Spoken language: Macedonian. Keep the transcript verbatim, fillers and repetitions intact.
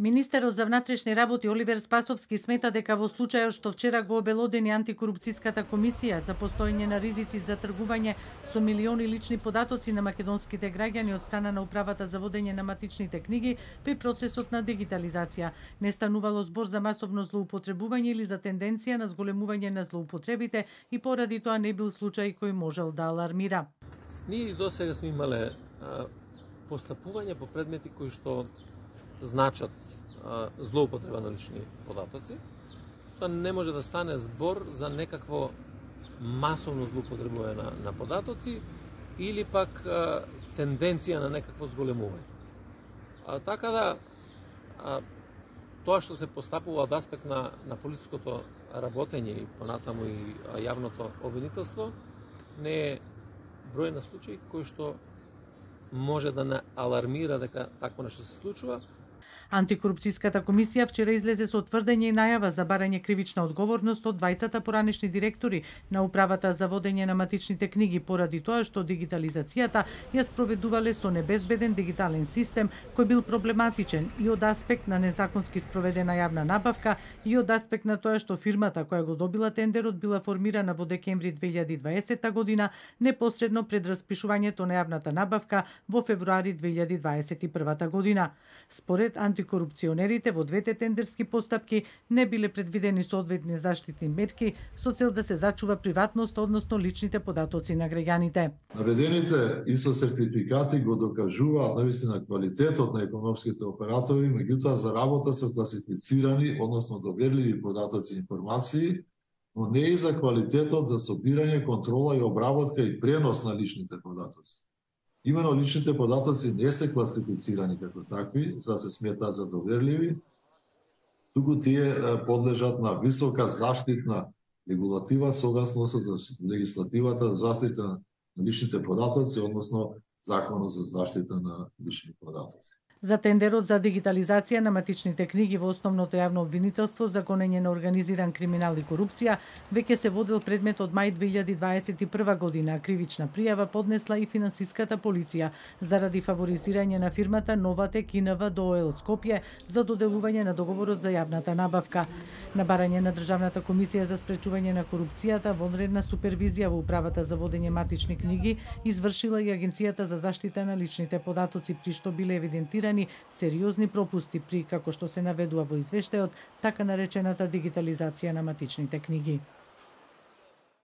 Министерот за внатрешни работи Оливер Спасовски смета дека во случајот што вчера го обелодени антикорупцијската комисија за постоење на ризици за тргување со милиони лични податоци на македонските граѓани од страна на управата за водење на матичните книги при процесот на дигитализација, не станувало збор за масовно злоупотребување или за тенденција на зголемување на злоупотребите и поради тоа не бил случај кој можел да алармира. Ние досега сме имале а, постапување по предмети кои што значат а, злоупотреба на лични податоци. Тоа не може да стане збор за некакво масовно злоупотребување на, на податоци или пак а, тенденција на некакво зголемување. А, така да, а, тоа што се постапува од аспект на, на политичкото работење и понатаму и а, јавното обвинителство не е број на случаи кои што може да не алармира дека такво нешто се случува. Антикорупцијската комисија вчера излезе со тврдење и најава за барање кривична одговорност од двајцата поранешни директори на управата за водење на матичните книги поради тоа што дигитализацијата ја спроведувале со небезбеден дигитален систем кој бил проблематичен и од аспект на незаконски спроведена јавна набавка и од аспект на тоа што фирмата која го добила тендерот била формирана во декември две илјади и дваесета година непосредно пред распишувањето на јавната набавка во февруари две илјади дваесет и прва година. Според антикорупционерите во двете тендерски постапки не биле предвидени соодветни заштитни мерки со цел да се зачува приватност, односно личните податоци на граѓаните. Наведените и со сертификати го докажуваат навистина квалитетот на економските оператори, меѓутоа за работа со класифицирани, односно доверливи податоци и информации, но не и за квалитетот за собирање, контрола и обработка и пренос на личните податоци. Имено личните податоци не се класифицирани како такви, за да се сметаат за доверливи, туку тие подлежат на висока заштитна регулатива согласно со легислативата за заштита на личните податоци, односно Законот за заштита на лични податоци. За тендерот за дигитализација на матичните книги во основното јавно обвинителство за гонење на организиран криминал и корупција веќе се водел предмет од мај две илјади дваесет и прва година, а кривична пријава поднесла и финансиската полиција заради фаворизирање на фирмата Новатек ИНВ до ОЛ Скопје за доделување на договорот за јавната набавка. На барање на Државната комисија за спречување на корупцијата, вонредна супервизија во управата за водење матични книги извршила и Агенцијата за заштита на личните податоци, при што биле евидентирани сериозни пропусти при, како што се наведува во извештајот, така наречената дигитализација на матичните книги.